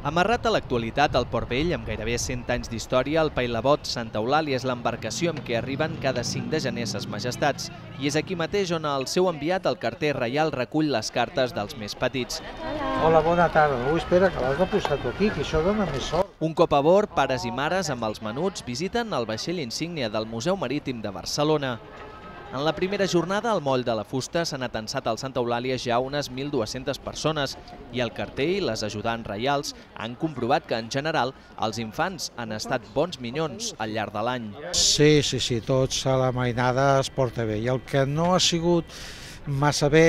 Amarrat a l'actualitat al Port Vell, amb gairebé 100 anys d'història, el Pailabot Santa Eulàlia és l'embarcació amb què arriben cada 5 de gener ses majestats. I és aquí mateix on el seu enviat, el carter reial, recull les cartes dels més petits. Hola, bona tarda. No, espera, que l'has de posar tu aquí, que això dona més sort. Un cop a bord, pares i mares amb els menuts visiten el vaixell insígnia del Museu Marítim de Barcelona. En la primera jornada, al moll de la Fusta s'han atensat al Santa Eulàlia ja unes 1.200 persones i el carter i les ajudants reials han comprovat que, en general, els infants han estat bons minyons al llarg de l'any. Sí, tots a la mainada es porta bé. I el que no ha sigut massa bé,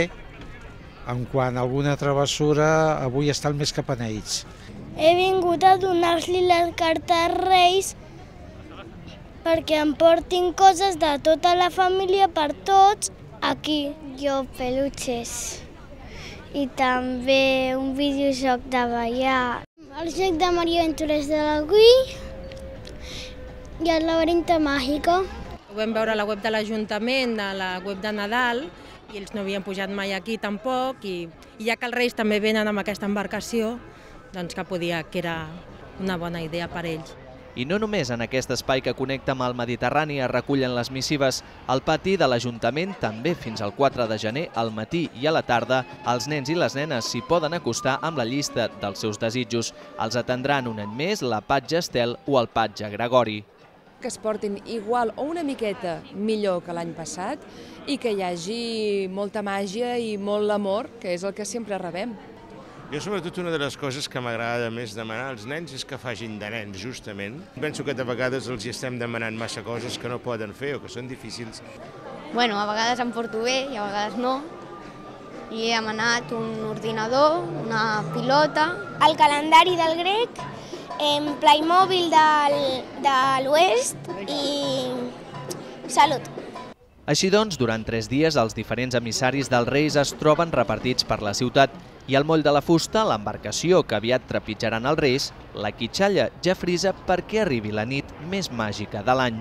en quant a alguna travessura, avui estan més cap a ells. He vingut a donar-li les cartes als Reis perquè em portin coses de tota la família per tots aquí. Jo peluches i també un videojoc de ballar. El joc de Mario Aventuras de la Wii i el laberinto màgico. Ho vam veure a la web de l'Ajuntament, a la web de Nadal, i ells no havien pujat mai aquí tampoc, i ja que els Reis també venen amb aquesta embarcació, doncs que era una bona idea per ells. I no només en aquest espai que connecta amb el Mediterrani es recullen les missives, al pati de l'Ajuntament també fins al 4 de gener, al matí i a la tarda, els nens i les nenes s'hi poden acostar amb la llista dels seus desitjos. Els atendran un any més la patge Estel o el patge Gregori. Que es portin igual o una miqueta millor que l'any passat i que hi hagi molta màgia i molt amor, que és el que sempre rebem. Jo, sobretot, una de les coses que m'agrada més demanar als nens és que facin de nens, justament. Penso que de vegades els estem demanant massa coses que no poden fer o que són difícils. Bueno, a vegades em porto bé i a vegades no. I he demanat un ordinador, una pilota. El calendari del grec, Playmobil de l'Oest i salut. Així doncs, durant 3 dies, els diferents emissaris dels Reis es troben repartits per la ciutat i al moll de la Fusta, l'embarcació que aviat trepitjaran els Reis, la quitxalla ja frisa perquè arribi la nit més màgica de l'any.